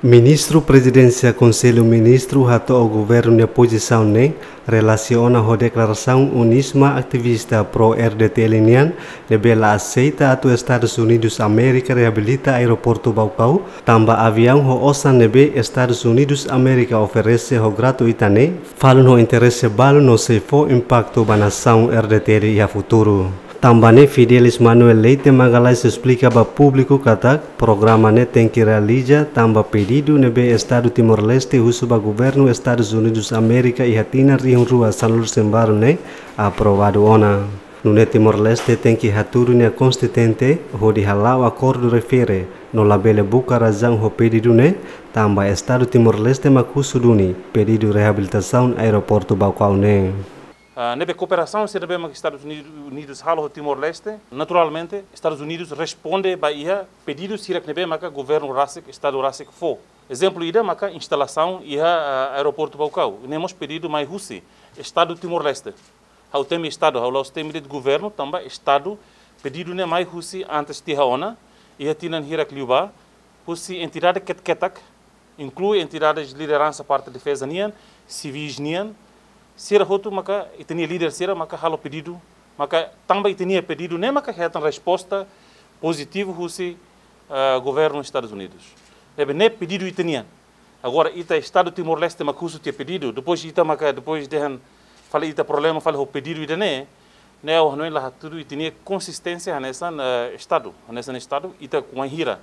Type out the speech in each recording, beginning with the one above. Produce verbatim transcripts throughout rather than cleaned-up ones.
Ministru Prezidénsia Konsellu Ministru hato'o governu nia pozisaun ne'e relasiona ho deklarasaun UNISMA, ativista pro R D T L nian, ne'ebé la aseita atu Estadus Unidus Amérika reabilita Aeroportu Baucau, tanba aviaun ho osan ne'ebé Estadus Unidus Amérika oferese ho gratuita ne'e, falun ho interese balu no sei fó impaktu ba nasaun R D T L iha futuru. Tanba ne'e Fidelis Manuel Leite Magalhães esplika ba públiku katak programa ne'e tenke realiza tanba pedidu ne'ebé Estadu Timor-Leste husu ba governu Estadus Unidus Amérika iha tinan rihun rua sanulu-resin-balu ne'e aprovadu ona. Nune'e Timor-Leste tenke hatudu nia konstituinte hodi hala'o akordu refere no labele buka razaun ho pedidu ne'e, tanba Estadu Timor-Leste mak husu duni pedidu reabilitasaun Aeroportu Baucau ne'e. Ah, ne'ebé kooperasaun sira ne'ebé maka Estadus Unidu-, Unidus halo ho Timor-Leste, naturalmente, Estadus Unidus responde ba iha pedidu sira ne'ebé maka governu rasik, Estadu rasik fó. Ezemplu ida maka instalasaun iha, ah, Aeroportu Baucau. Ne'e mós pedidu mai husi Estadu Timor-Leste. Ha'u temi Estadu, ha'u la'ós temi de'it governu, tanba Estadu pedidu ne'e mai husi antes tiha ona, iha tinan hirak liubá, husi entidade ketak-ketak, inklui entidades lideransa parte defeza nian, sivis nian, sira hotu maka ita-nia líder sira maka halo pedidu, maka tanba ita-nia pedidu ne'e maka hetan resposta pozitivu husi, ah, governu Estadus Unidus. Ne'ebé ne'e pedidu ita-nian. Agora ita Estadu Timor-Leste mak husu tiha pedidu, depois ita maka, depois dehan fali ita problema fali ho pedidu ida-ne'e, ne'e ha'u hanoin la hatudu ita-nia konsisténsia hanesan, eh, Estadu, hanesan Estadu, ita kuan hira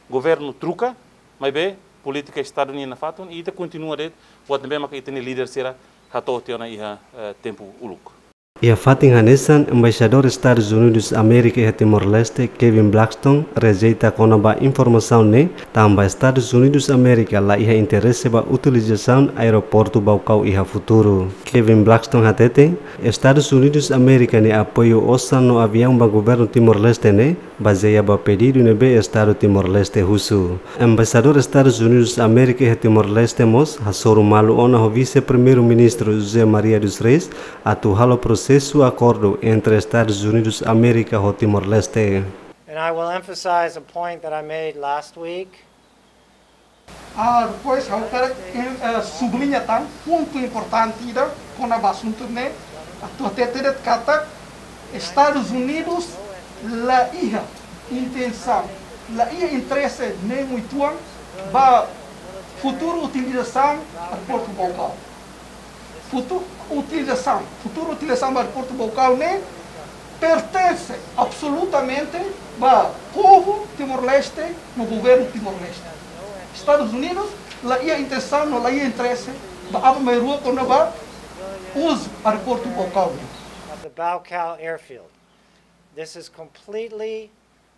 governu troka, maibé polítika Estadu nian nafatin, ita kontinua de'it, buat ne'ebé maka ita-nia líder sira hato'o tiha ona iha, eh, tempu uluk. Iha fatin hanesan, Embaixadór Estadus Unidus Amérika iha Timor-Leste, Kevin Blackstone, rejeita kona-ba informasaun ne'e, tanba Estadus Unidus Amérika la iha interese ba utilizasaun Aeroportu Baucau iha futuru. Kevin Blackstone hatete, Estadus Unidus Amérika nia apoiu osan no aviaun ba governu Timor-Leste ne'e bazeia ba pedidu ne'ebé Estadu Timor-Leste husu. Embaixadór Estadus Unidus Amérika iha Timor-Leste mós hasoru malu ona ho Vise-Primeiru-Ministru José Maria dos Reis atu halo prosesu akordu entre Estadus Unidus Amérika ho Timor-Leste. And I will emphasize a point that I made last week. Ah, depois, ha'u hakarak, eh, eh, subliña tan pontu importante ida kona-ba asuntu ne'e, atu hatete de'it katak Estadus Unidus la iha intensaun, la iha interese ne'e uitoan ba futuru utilizasaun Aeroportu Baucau. Futu-, utilizasaun, futuru utilizasaun ba Aeroportu Baucau ne'e pertense absolutamente ba povu Timor-Leste no governu Timor-Leste. Estadus Unidus la iha intensaun no la iha interese ba aban-bainrua kona-ba uzu Aeroportu Baucau ne'e. Of the Baucau airfield. This is completely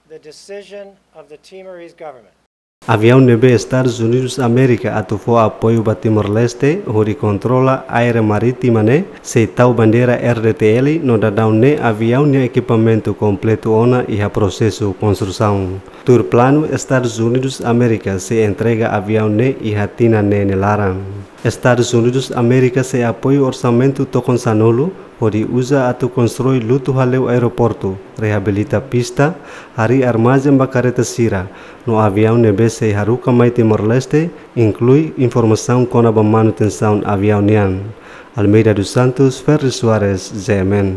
the decision of the Timorese government. Aviaun ne'ebé Estadus Unidus Amérika atu fó apoiu ba Timor-Leste hodi kontrola área marítima ne'e sei tau bandeira R D T L no daudaun ne'e aviaun nia ekipamentu kompletu ona iha prosesu konstrusaun. Tuir planu, Estadus Unidus Amérika sei entrega aviaun ne'e iha tinan ne'e nia laran. Estadus Unidus Amérika sei apoiu orsamentu tokon sanulu hodi uza atu konstrui lutu-haleu aeroportu, reabilita pista, harii armazén ba kareta sira, no aviaun ne'ebé sei haruka mai Timor-Leste, inklui informasaun kona-ba manutensaun aviaun nian. Almeida dos Santos, Ferri Soares, G M N.